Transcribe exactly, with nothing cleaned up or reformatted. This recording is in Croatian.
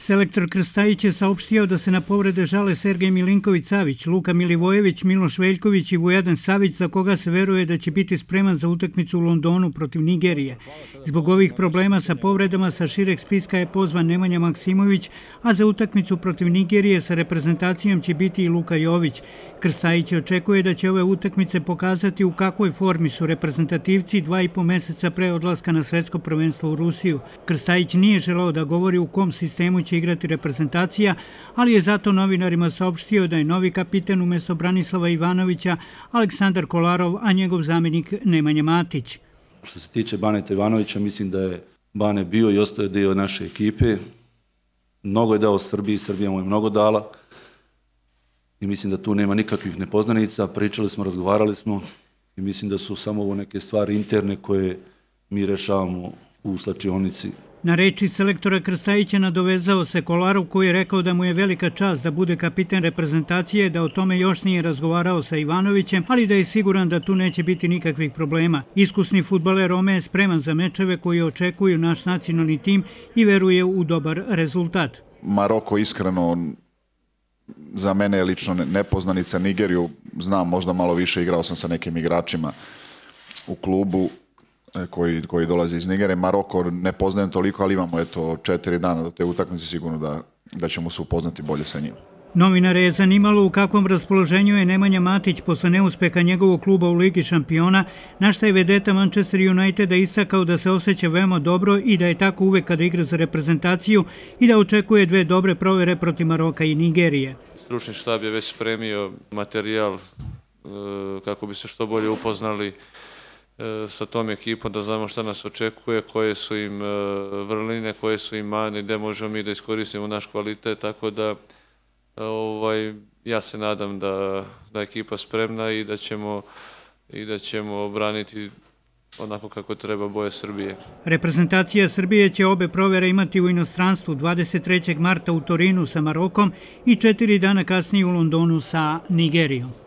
Selektor Krstajić je saopštio da se na povrede žale Sergej Milinković-Savić, Luka Milivojević, Miloš Veljković i Vujadan Savić, za koga se veruje da će biti spreman za utakmicu u Londonu protiv Nigerije. Zbog ovih problema sa povredama sa šireg spiska je pozvan Nemanja Maksimović, a za utakmicu protiv Nigerije sa reprezentacijom će biti i Luka Jović. Krstajić očekuje da će ove utakmice pokazati u kakvoj formi su reprezentativci dva i po meseca pre odlaska na svetsko prvenstvo u Rusiju. Krstajić nije želeo da govori u kom sistemu će igrati reprezentacija, ali je zato novinarima saopštio da je novi kapiten umjesto Branislava Ivanovića Aleksandar Kolarov, a njegov zamjenik Nemanja Matić. Što se tiče Baneta Ivanovića, mislim da je Bane bio i ostaje dio naše ekipe. Mnogo je dao Srbiji, Srbija mu je mnogo dala i mislim da tu nema nikakvih nepoznanica. Pričali smo, razgovarali smo i mislim da su samo ovo neke stvari interne koje mi rešavamo u slačionici. Na reči selektora Krstajića nadovezao se Kolarov, koji je rekao da mu je velika čast da bude kapiten reprezentacije, da o tome još nije razgovarao sa Ivanovićem, ali da je siguran da tu neće biti nikakvih problema. Iskusni fudbaler Rome je spreman za mečeve koji očekuju naš nacionalni tim i veruje u dobar rezultat. Maroko iskreno za mene je lično nepoznanica. Nigeriju znam možda malo više, igrao sam sa nekim igračima u klubu koji, koji dolaze iz Nigere. Maroko ne poznajem toliko, ali imamo eto četiri dana do te utakmice, sigurno da, da ćemo se upoznati bolje sa njim. Novinare je zanimalo u kakvom raspoloženju je Nemanja Matić posle neuspeha njegovog kluba u Ligi šampiona, na šta je vedeta Manchester Uniteda istakao da se osjeća veoma dobro i da je tako uvek kada igra za reprezentaciju i da očekuje dve dobre provere protiv Maroka i Nigerije. Stručni štab je već spremio materijal kako bi se što bolje upoznali sa tom ekipom, da znamo šta nas očekuje, koje su im vrline, koje su im mane, gde možemo mi da iskoristimo naš kvalitet, tako da ovaj, ja se nadam da, da je ekipa spremna i da ćemo, i da ćemo braniti onako kako treba boje Srbije. Reprezentacija Srbije će obe provere imati u inostranstvu dvadeset trećeg marta u Torinu sa Marokom i četiri dana kasnije u Londonu sa Nigerijom.